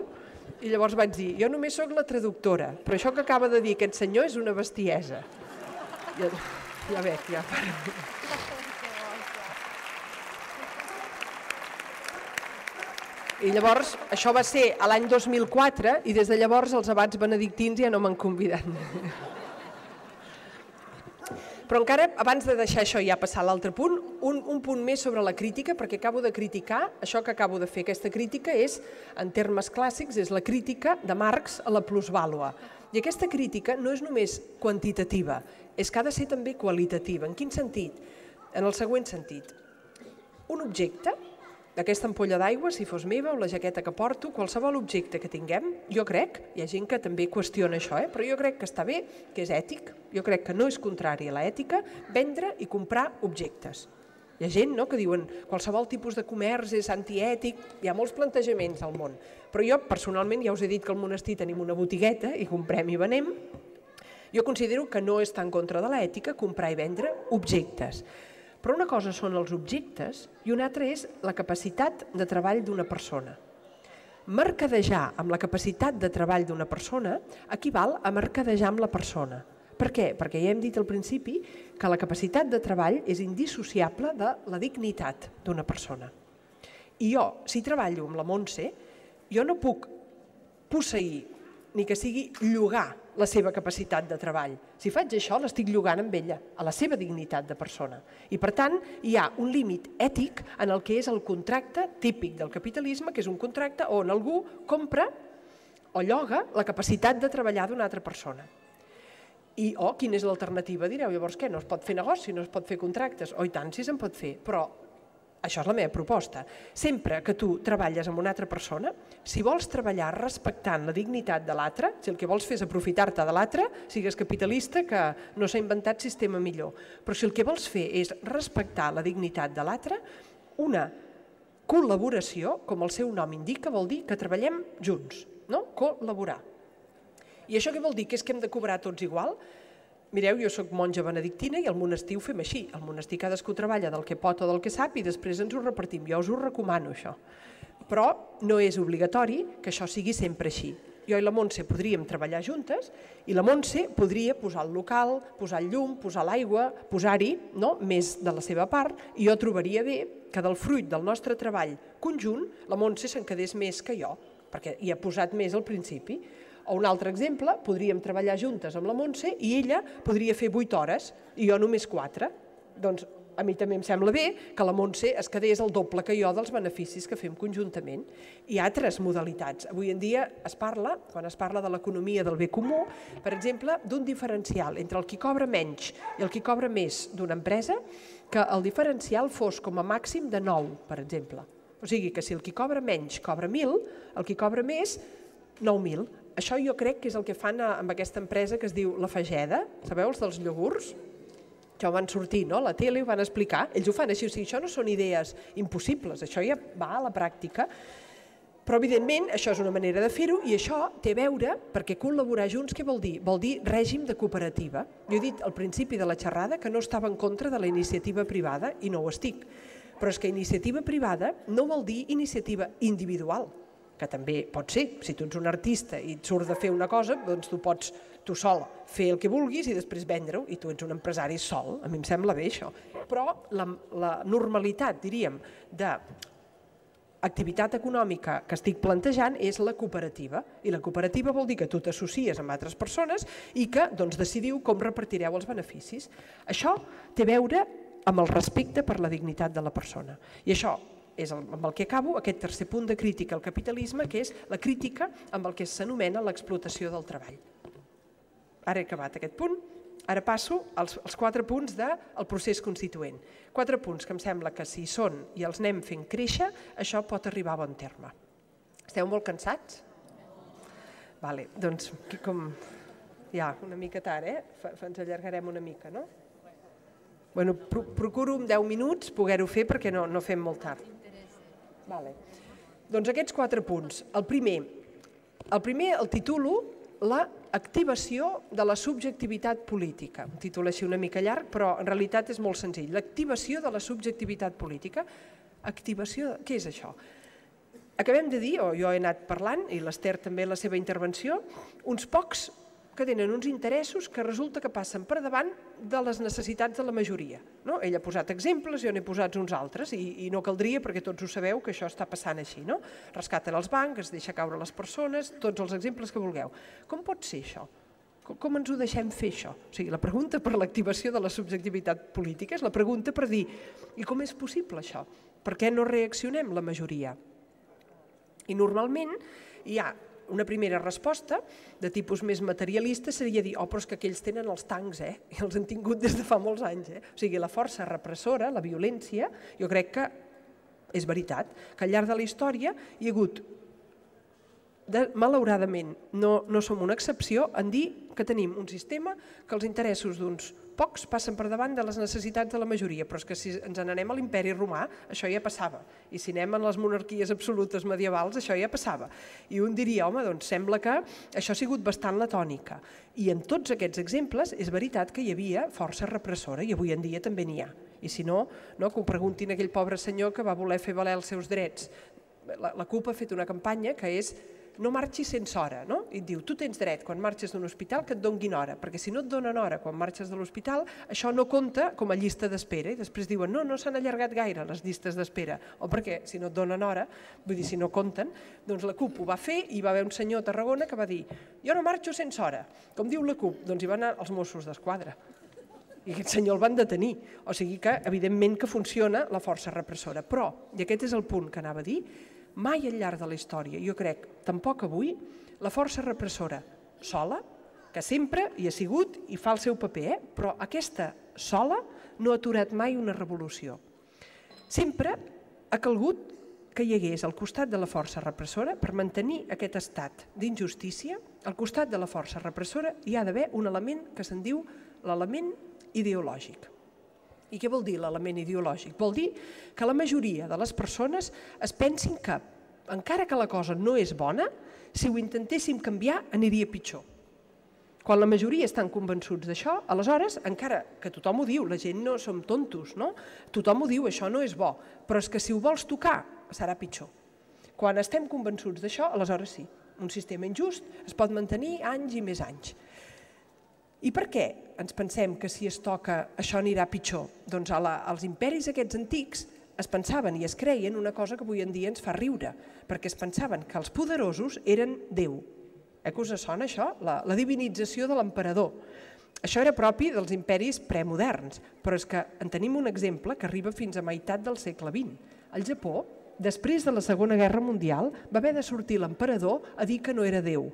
Speaker 1: i llavors vaig dir, jo només sóc la traductora, però això que acaba de dir aquest senyor és una bestiesa. Ja veig, ja para. I llavors, això va ser a l'any 2004 i des de llavors els abats benedictins ja no m'han convidat. Però encara, abans de deixar això i ja passar a l'altre punt, un punt més sobre la crítica, perquè acabo de criticar, això que acabo de fer, aquesta crítica és, en termes clàssics, és la crítica de Marx a la plusvàlua. I aquesta crítica no és només quantitativa, és que ha de ser també qualitativa. En quin sentit? En el següent sentit. Un objecte, aquesta ampolla d'aigua, si fos meva, o la jaqueta que porto, qualsevol objecte que tinguem, jo crec, hi ha gent que també qüestiona això, però jo crec que està bé, que és ètic, jo crec que no és contrari a l'ètica, vendre i comprar objectes. Hi ha gent que diuen qualsevol tipus de comerç és antiètic, hi ha molts plantejaments al món, però jo personalment ja us he dit que al monestir tenim una botigueta i comprem i venem, jo considero que no està en contra de l'ètica comprar i vendre objectes. Però una cosa són els objectes i una altra és la capacitat de treball d'una persona. Mercadejar amb la capacitat de treball d'una persona equival a mercadejar amb la persona. Per què? Perquè ja hem dit al principi que la capacitat de treball és indissociable de la dignitat d'una persona. I jo, si treballo amb la Montse, jo no puc posseir ni que sigui llogar la seva capacitat de treball. Si faig això, l'estic llogant amb ella, a la seva dignitat de persona. I per tant, hi ha un límit ètic en el que és el contracte típic del capitalisme, que és un contracte on algú compra o lloga la capacitat de treballar d'una altra persona. I, quina és l'alternativa? Direu, llavors què? No es pot fer negoci, no es pot fer contractes? I tant, sí se'n pot fer, però això és la meva proposta. Sempre que tu treballes amb una altra persona, si vols treballar respectant la dignitat de l'altre, si el que vols fer és aprofitar-te de l'altre, sigues capitalista que no s'ha inventat sistema millor. Però si el que vols fer és respectar la dignitat de l'altre, una col·laboració, com el seu nom indica, vol dir que treballem junts, no? Col·laborar. I això què vol dir? Que és que hem de cobrar tots igual? Mireu, jo soc monja benedictina i al monestir ho fem així. Al monestir cadascú treballa del que pot o del que sap i després ens ho repartim. Jo us ho recomano, això. Però no és obligatori que això sigui sempre així. Jo i la Montse podríem treballar juntes i la Montse podria posar el local, posar el llum, posar l'aigua, posar-hi més de la seva part i jo trobaria bé que del fruit del nostre treball conjunt la Montse se'n quedés més que jo, perquè hi ha posat més al principi. O un altre exemple, podríem treballar juntes amb la Montse i ella podria fer 8 hores i jo només 4. Doncs a mi també em sembla bé que la Montse es quedés el doble que jo dels beneficis que fem conjuntament. Hi ha altres modalitats. Avui en dia es parla, quan es parla de l'economia del bé comú, per exemple, d'un diferencial entre el qui cobra menys i el qui cobra més d'una empresa, que el diferencial fos com a màxim de 9, per exemple. O sigui que si el qui cobra menys cobra 1.000, el qui cobra més 9.000. Això jo crec que és el que fan amb aquesta empresa que es diu La Fageda, sabeu, els dels iogurts? Això van sortir a la tele i ho van explicar. Ells ho fan així, o sigui, això no són idees impossibles, això ja va a la pràctica. Però, evidentment, això és una manera de fer-ho i això té a veure, perquè col·laborar junts, què vol dir? Vol dir règim de cooperativa. Jo he dit al principi de la xerrada que no estava en contra de la iniciativa privada i no ho estic. Però és que iniciativa privada no vol dir iniciativa individual, que també pot ser. Si tu ets un artista i et surt de fer una cosa, doncs tu pots tu sol fer el que vulguis i després vendre-ho, i tu ets un empresari sol, a mi em sembla bé això. Però la normalitat, diríem, d'activitat econòmica que estic plantejant és la cooperativa, i la cooperativa vol dir que tu t'associes amb altres persones i que decidiu com repartireu els beneficis. Això té a veure amb el respecte per la dignitat de la persona. I això és amb el que acabo, aquest tercer punt de crítica al capitalisme, que és la crítica amb el que s'anomena l'explotació del treball. Ara he acabat aquest punt, ara passo als 4 punts del procés constituent. 4 punts que em sembla que si hi són i els anem fent créixer, això pot arribar a bon terme. Esteu molt cansats? Vale, doncs, com ja, una mica tard, ens allargarem una mica, no? Bueno, procuro en 10 minuts poder-ho fer perquè no fem molt tard. Doncs aquests 4 punts. El primer el titulo l'activació de la subjectivitat política. Un títol així una mica llarg, però en realitat és molt senzill. L'activació de la subjectivitat política. Què és això? Acabem de dir, o jo he anat parlant, i l'Ester també en la seva intervenció, uns pocs que tenen uns interessos que resulta que passen per davant de les necessitats de la majoria. Ell ha posat exemples, jo n'he posat uns altres, i no caldria perquè tots ho sabeu que això està passant així. Rescaten els bancs, es deixa caure les persones, tots els exemples que vulgueu. Com pot ser això? Com ens ho deixem fer, això? O sigui, la pregunta per l'activació de la subjectivitat política és la pregunta per dir i com és possible això? Per què no reaccionem la majoria? I normalment hi ha una primera resposta de tipus més materialista seria dir però és que aquells tenen els tancs, i els han tingut des de fa molts anys. O sigui, la força repressora, la violència, jo crec que és veritat, que al llarg de la història hi ha hagut, malauradament, no som una excepció en dir que tenim un sistema que els interessos d'uns pocs passen per davant de les necessitats de la majoria, però és que si ens n'anem a l'imperi romà, això ja passava, i si anem a les monarquies absolutes medievals, això ja passava. I un diria, home, doncs sembla que això ha sigut bastant la tònica. I en tots aquests exemples és veritat que hi havia força repressora, i avui en dia també n'hi ha. I si no, que ho preguntin a aquell pobre senyor que va voler fer valer els seus drets. La CUP ha fet una campanya que és no marxis sense hora, i et diu, tu tens dret quan marxes d'un hospital que et donguin hora, perquè si no et donen hora quan marxes de l'hospital, això no compta com a llista d'espera, i després diuen, no s'han allargat gaire les llistes d'espera, o perquè si no et donen hora, vull dir, si no compten, doncs la CUP ho va fer i va haver un senyor a Tarragona que va dir, jo no marxo sense hora, com diu la CUP, doncs hi van anar els Mossos d'Esquadra. I aquest senyor el van detenir, o sigui que evidentment que funciona la força repressora, però, i aquest és el punt que anava a dir, mai al llarg de la història, jo crec, tampoc avui, la força repressora sola, que sempre hi ha sigut i fa el seu paper, però aquesta sola no ha aturat mai una revolució. Sempre ha calgut que hi hagués al costat de la força repressora, per mantenir aquest estat d'injustícia, al costat de la força repressora hi ha d'haver un element que se'n diu l'element ideològic. I què vol dir l'element ideològic? Vol dir que la majoria de les persones es pensin que, encara que la cosa no és bona, si ho intentéssim canviar aniria pitjor. Quan la majoria estan convençuts d'això, aleshores, encara que tothom ho diu, la gent no som tontos, tothom ho diu, això no és bo, però és que si ho vols tocar serà pitjor. Quan estem convençuts d'això, aleshores sí, un sistema injust es pot mantenir anys i més anys. I per què ens pensem que si es toca això anirà pitjor? Doncs als imperis aquests antics es pensaven i es creien una cosa que avui en dia ens fa riure, perquè es pensaven que els poderosos eren Déu. Que us sona això? La divinització de l'emperador. Això era propi dels imperis premoderns, però és que en tenim un exemple que arriba fins a meitat del segle XX. Al Japó, després de la Segona Guerra Mundial, va haver de sortir l'emperador a dir que no era Déu.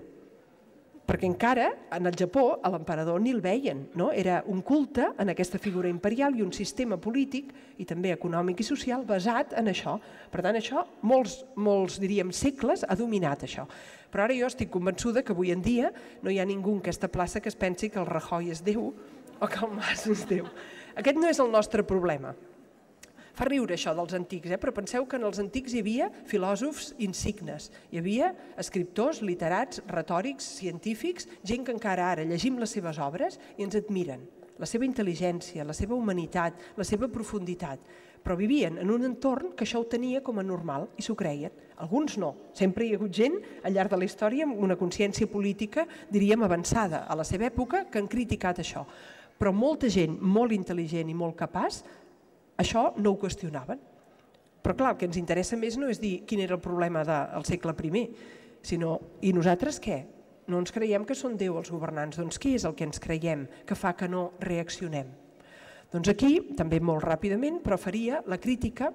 Speaker 1: Perquè encara, en el Japó, a l'emperador ni el veien. Era un culte en aquesta figura imperial i un sistema polític i també econòmic i social basat en això. Per tant, això, molts diríem segles, ha dominat això. Però ara jo estic convençuda que avui en dia no hi ha ningú en aquesta plaça que es pensi que el Rajoy és Déu o que el Mas és Déu. Aquest no és el nostre problema. Fa riure això dels antics, però penseu que en els antics hi havia filòsofs insignes, hi havia escriptors, literats, retòrics, científics, gent que encara ara llegim les seves obres i ens admiren. la seva intel·ligència, la seva humanitat, la seva profunditat, però vivien en un entorn que això ho tenia com a normal i s'ho creien. Alguns no. Sempre hi ha hagut gent al llarg de la història amb una consciència política, diríem, avançada a la seva època, que han criticat això. Però molta gent molt intel·ligent i molt capaç, això no ho qüestionaven. Però clar, el que ens interessa més no és dir quin era el problema del segle I, sinó, i nosaltres què? No ens creiem que són Déu els governants, doncs què és el que ens creiem que fa que no reaccionem? Doncs aquí, també molt ràpidament, però faria la crítica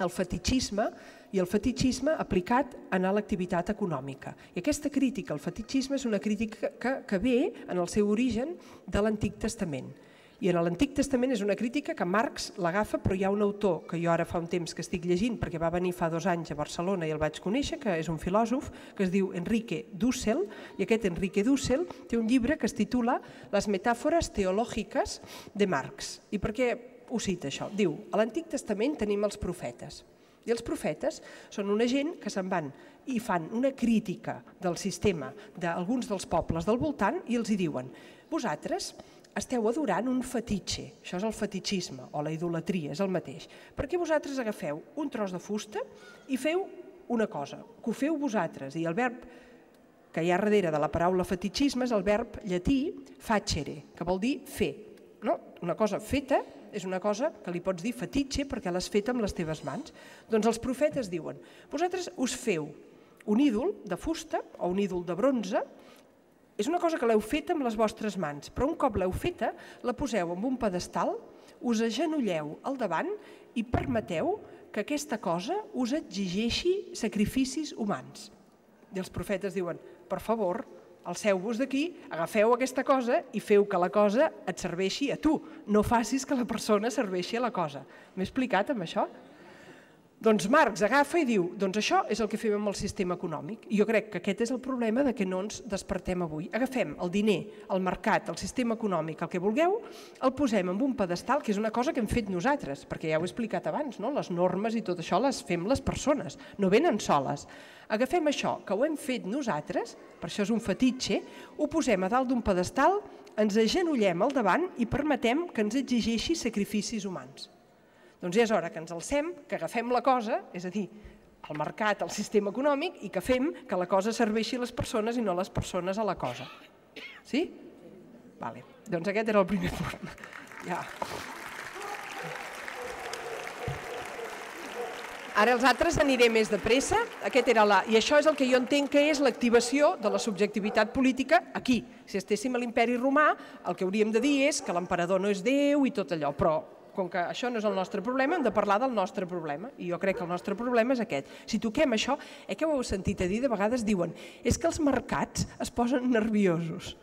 Speaker 1: al fetitxisme i el fetitxisme aplicat a l'activitat econòmica. I aquesta crítica al fetitxisme és una crítica que ve en el seu origen de l'Antic Testament. I en l'Antic Testament és una crítica que Marx l'agafa, però hi ha un autor que jo ara fa un temps que estic llegint, perquè va venir fa 2 anys a Barcelona i el vaig conèixer, que és un filòsof, que es diu Enrique Dussel, i aquest Enrique Dussel té un llibre que es titula Les metàfores teològiques de Marx. I per què ho cita això? Diu, a l'Antic Testament tenim els profetes, i els profetes són una gent que se'n van i fan una crítica del sistema d'alguns dels pobles del voltant i els hi diuen, vosaltres esteu adorant un fetitxe, això és el fetitxisme o la idolatria, és el mateix, perquè vosaltres agafeu un tros de fusta i feu una cosa, que ho feu vosaltres, i el verb que hi ha darrere de la paraula fetitxisme és el verb llatí facere, que vol dir fer. Una cosa feta és una cosa que li pots dir fetitxe perquè l'has fet amb les teves mans. Doncs els profetes diuen, vosaltres us feu un ídol de fusta o un ídol de bronze. És una cosa que l'heu feta amb les vostres mans, però un cop l'heu feta, la poseu en un pedestal, us agenolleu al davant i permeteu que aquesta cosa us exigeixi sacrificis humans. I els profetes diuen, per favor, alceu-vos d'aquí, agafeu aquesta cosa i feu que la cosa et serveixi a tu. No facis que la persona serveixi a la cosa. M'he explicat amb això? Doncs Marx agafa i diu, doncs això és el que fem amb el sistema econòmic. I jo crec que aquest és el problema de que no ens despertem avui. Agafem el diner, el mercat, el sistema econòmic, el que vulgueu, el posem en un pedestal, que és una cosa que hem fet nosaltres, perquè ja ho he explicat abans, les normes i tot això les fem les persones, no venen soles. Agafem això, que ho hem fet nosaltres, per això és un fetitxe, ho posem a dalt d'un pedestal, ens agenollem al davant i permetem que ens exigeixi sacrificis humans. Doncs ja és hora que ens alcem, que agafem la cosa, és a dir, el mercat, el sistema econòmic, i que fem que la cosa serveixi a les persones i no les persones a la cosa. Sí? Vale. Doncs aquest era el primer punt. Ja. Ara els altres aniré més de pressa. I això és el que jo entenc que és l'activació de la subjectivitat política aquí. Si estéssim a l'imperi romà, el que hauríem de dir és que l'emperador no és Déu i tot allò, però com que això no és el nostre problema, hem de parlar del nostre problema. I jo crec que el nostre problema és aquest. Si toquem això, que ho heu sentit a dir, de vegades diuen és que els mercats es posen nerviosos.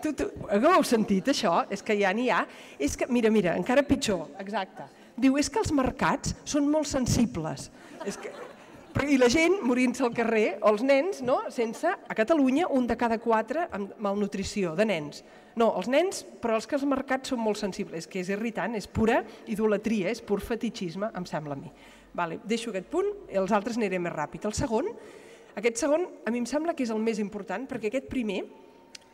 Speaker 1: Heu sentit això? És que ja n'hi ha. Mira, encara pitjor, exacte. Diu, és que els mercats són molt sensibles. I la gent morint-se al carrer, o els nens, sense, a Catalunya, 1 de cada 4 amb malnutrició de nens. No, els nens, però els que els mercats són molt sensibles, que és irritant, és pura idolatria, és pur fetitxisme, em sembla a mi. Deixo aquest punt, els altres aniré més ràpid. Aquest segon, a mi em sembla que és el més important, perquè aquest primer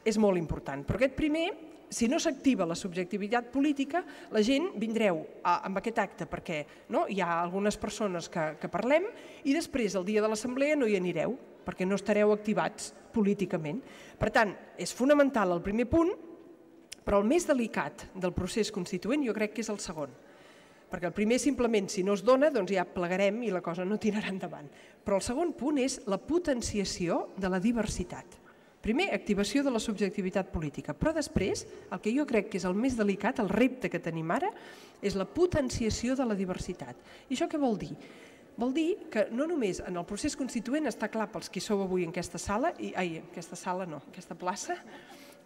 Speaker 1: és molt important, però aquest primer, si no s'activa la subjectivitat política, la gent vindreu amb aquest acte perquè hi ha algunes persones que parlem i després, el dia de l'assemblea, no hi anireu, perquè no estareu activats políticament. Per tant, és fonamental el primer punt, però el més delicat del procés constituent jo crec que és el segon. Perquè el primer simplement, si no es dona, doncs ja plegarem i la cosa no tirarà endavant. Però el segon punt és la potenciació de la diversitat. Primer, activació de la subjectivitat política, però després, el que jo crec que és el més delicat, el repte que tenim ara, és la potenciació de la diversitat. I això què vol dir? Vol dir que no només en el procés constituent està clar pels qui sou avui en aquesta sala, aquesta plaça,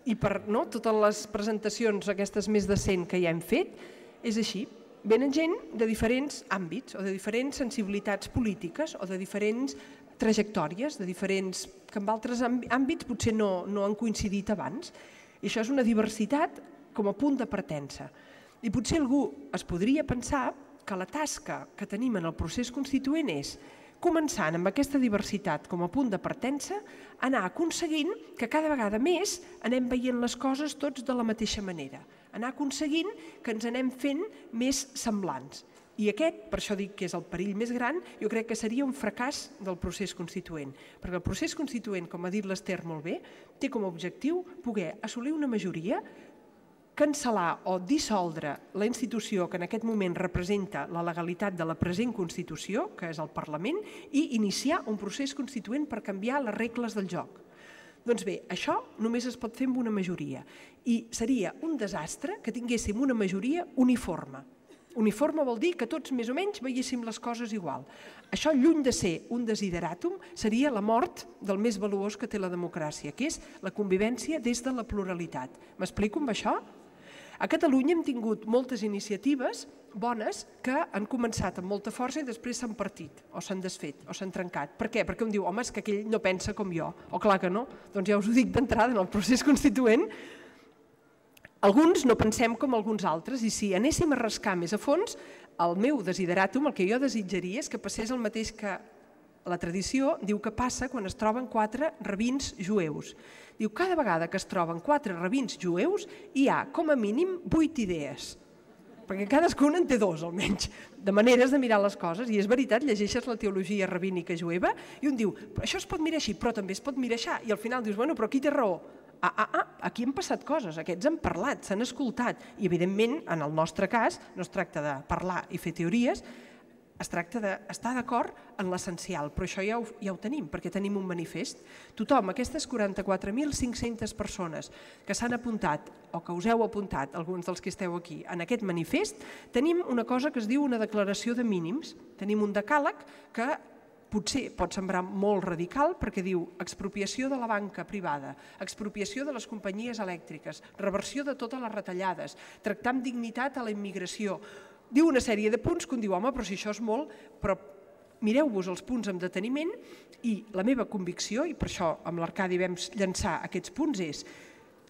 Speaker 1: i per totes les presentacions, aquestes més de 100 que ja hem fet, és així. Venen gent de diferents àmbits o de diferents sensibilitats polítiques o de diferents trajectòries, que en altres àmbits potser no han coincidit abans. I això és una diversitat com a punt de partença. I potser algú es podria pensar que la tasca que tenim en el procés constituent és començant amb aquesta diversitat com a punt de partença, anar aconseguint que cada vegada més anem veient les coses tots de la mateixa manera, anar aconseguint que ens anem fent més semblants. I aquest, per això dic que és el perill més gran, jo crec que seria un fracàs del procés constituent, perquè el procés constituent, com ha dit l'Ester molt bé, té com a objectiu poder assolir una majoria, cancel·lar o dissoldre la institució que en aquest moment representa la legalitat de la present Constitució, que és el Parlament, i iniciar un procés constituent per canviar les regles del joc. Doncs bé, això només es pot fer amb una majoria i seria un desastre que tinguéssim una majoria uniforme. Uniforme vol dir que tots més o menys veiéssim les coses igual. Això, lluny de ser un desideràtum, seria la mort del més valuós que té la democràcia, que és la convivència des de la pluralitat. M'explico amb això? A Catalunya hem tingut moltes iniciatives bones que han començat amb molta força i després s'han partit, o s'han desfet, o s'han trencat. Per què? Perquè un diu, home, és que aquell no pensa com jo. O clar que no. Doncs ja us ho dic d'entrada, en el procés constituent, alguns no pensem com alguns altres i si anéssim a rascar més a fons, el meu desideràtum, el que jo desitjaria és que passés el mateix que la tradició diu que passa quan es troben 4 rabins jueus. Diu, cada vegada que es troben 4 rabins jueus hi ha com a mínim 8 idees, perquè cadascun en té 2 almenys, de maneres de mirar les coses, i és veritat, llegeixes la teologia rabínica jueva i un diu, això es pot mirar així, però també es pot mirar així, i al final dius, bueno, però qui té raó? Aquí han passat coses, aquests han parlat, s'han escoltat i evidentment en el nostre cas no es tracta de parlar i fer teories, es tracta d'estar d'acord en l'essencial, però això ja ho tenim, perquè tenim un manifest. Tothom, aquestes 44.500 persones que s'han apuntat o que us heu apuntat, alguns dels que esteu aquí, en aquest manifest, tenim una cosa que es diu una declaració de mínims, tenim un decàleg que potser pot semblar molt radical perquè diu expropiació de la banca privada, expropiació de les companyies elèctriques, reversió de totes les retallades, tractar amb dignitat a la immigració. Diu una sèrie de punts que un diu, home, però si això és molt, però mireu-vos els punts amb deteniment i la meva convicció, i per això amb l'Arcadi vam llançar aquests punts, és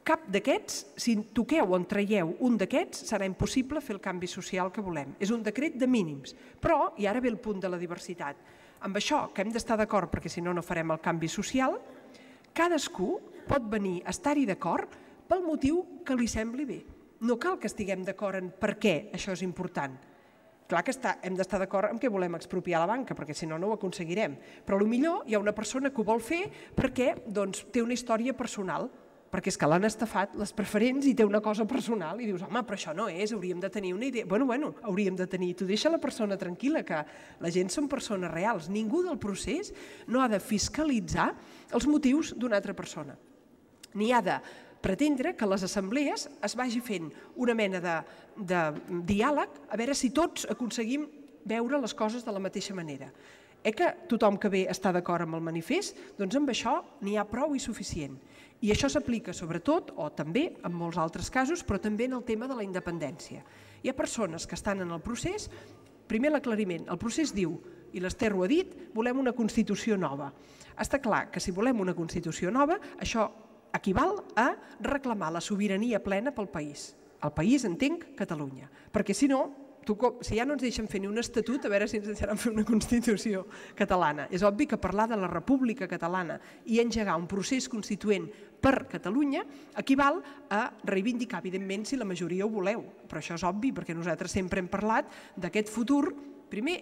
Speaker 1: cap d'aquests, si toqueu o en traieu un d'aquests, serà impossible fer el canvi social que volem. És un decret de mínims, però, i ara ve el punt de la diversitat, amb això, que hem d'estar d'acord perquè si no, no farem el canvi social, cadascú pot venir a estar-hi d'acord pel motiu que li sembli bé. No cal que estiguem d'acord en per què això és important. Clar que hem d'estar d'acord en què volem expropiar la banca, perquè si no, no ho aconseguirem. Però potser hi ha una persona que ho vol fer perquè té una història personal, perquè és que l'han estafat les preferents i té una cosa personal i dius, home, però això no és, hauríem de tenir una idea. Bueno, hauríem de tenir, tu deixa la persona tranquil·la, que la gent són persones reals. Ningú del procés no ha de fiscalitzar els motius d'una altra persona. Ni ha de pretendre que a les assemblees es vagi fent una mena de diàleg a veure si tots aconseguim veure les coses de la mateixa manera. Que tothom que ve està d'acord amb el manifest, doncs amb això n'hi ha prou i suficient. I això s'aplica sobretot, o també en molts altres casos, però també en el tema de la independència. Hi ha persones que estan en el procés, primer l'aclariment, el procés diu, i l'Ester ho ha dit, volem una Constitució nova. Està clar que si volem una Constitució nova, això equival a reclamar la sobirania plena pel país. El país, entenc, Catalunya. Perquè si no, si ja no ens deixen fer ni un estatut, a veure si ens deixaran fer una Constitució catalana. És obvi que parlar de la República Catalana i engegar un procés constituent per Catalunya equival a reivindicar, evidentment, si la majoria ho voleu. Però això és obvi, perquè nosaltres sempre hem parlat d'aquest futur, primer,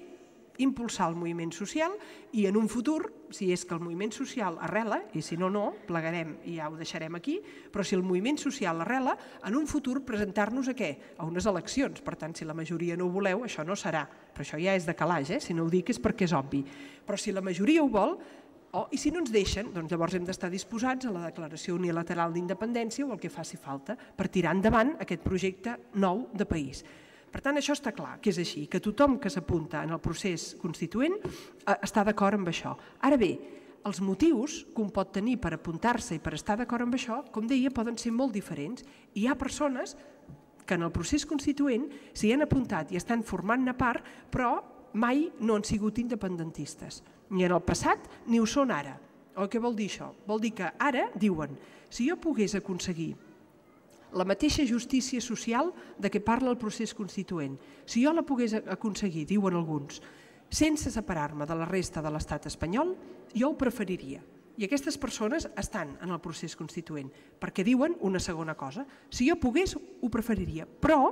Speaker 1: impulsar el moviment social i en un futur, si és que el moviment social arrela, i si no, no, plegarem i ja ho deixarem aquí, però si el moviment social arrela, en un futur presentar-nos a què? A unes eleccions. Per tant, si la majoria no ho voleu, això no serà. Però això ja és de calaix, si no ho dic és perquè és obvi. Però si la majoria ho vol, i si no ens deixen, doncs llavors hem d'estar disposats a la declaració unilateral d'independència o el que faci falta per tirar endavant aquest projecte nou de país. Per tant, això està clar, que és així, que tothom que s'apunta en el procés constituent està d'acord amb això. Ara bé, els motius que un pot tenir per apuntar-se i per estar d'acord amb això, com deia, poden ser molt diferents. Hi ha persones que en el procés constituent s'hi han apuntat i estan formant-ne part, però mai no han sigut independentistes. Ni en el passat ni ho són ara. Què vol dir això? Vol dir que ara diuen, si jo pogués aconseguir la mateixa justícia social de què parla el procés constituent, si jo la pogués aconseguir, diuen alguns, sense separar-me de la resta de l'estat espanyol, jo ho preferiria. I aquestes persones estan en el procés constituent, perquè diuen una segona cosa. Si jo pogués, ho preferiria, però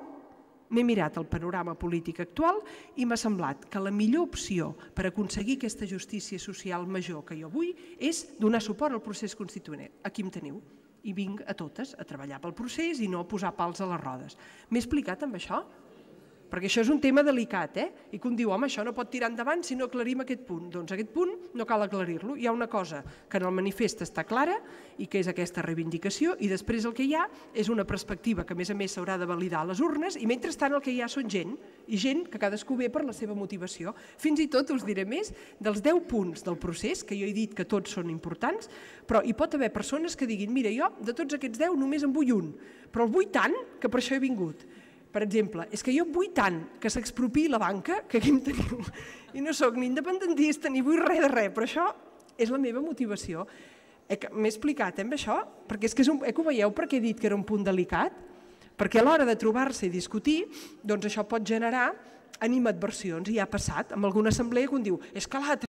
Speaker 1: m'he mirat el panorama polític actual i m'ha semblat que la millor opció per aconseguir aquesta justícia social major que jo vull és donar suport al procés constituent. Aquí em teniu. I vinc a totes a treballar pel procés i no a posar pals a les rodes. M'he explicat amb això? Perquè això és un tema delicat, i que un diu, home, això no pot tirar endavant si no aclarim aquest punt. Doncs aquest punt no cal aclarir-lo. Hi ha una cosa que en el manifest està clara i que és aquesta reivindicació, i després el que hi ha és una perspectiva que a més s'haurà de validar a les urnes, i mentrestant el que hi ha són gent, i gent que cadascú ve per la seva motivació. Fins i tot us diré més, dels 10 punts del procés, que jo he dit que tots són importants, però hi pot haver persones que diguin, mira, jo de tots aquests 10 només en vull un, però el vull tant que per això he vingut. Per exemple, és que jo vull tant que s'expropiï la banca, que aquí em teniu, i no sóc ni independentista ni vull res de res, però això és la meva motivació. M'he explicat amb això, perquè és que ho veieu perquè he dit que era un punt delicat? Perquè a l'hora de trobar-se i discutir, doncs això pot generar animadversions, i ja ha passat amb alguna assemblea que un diu, és que l'altre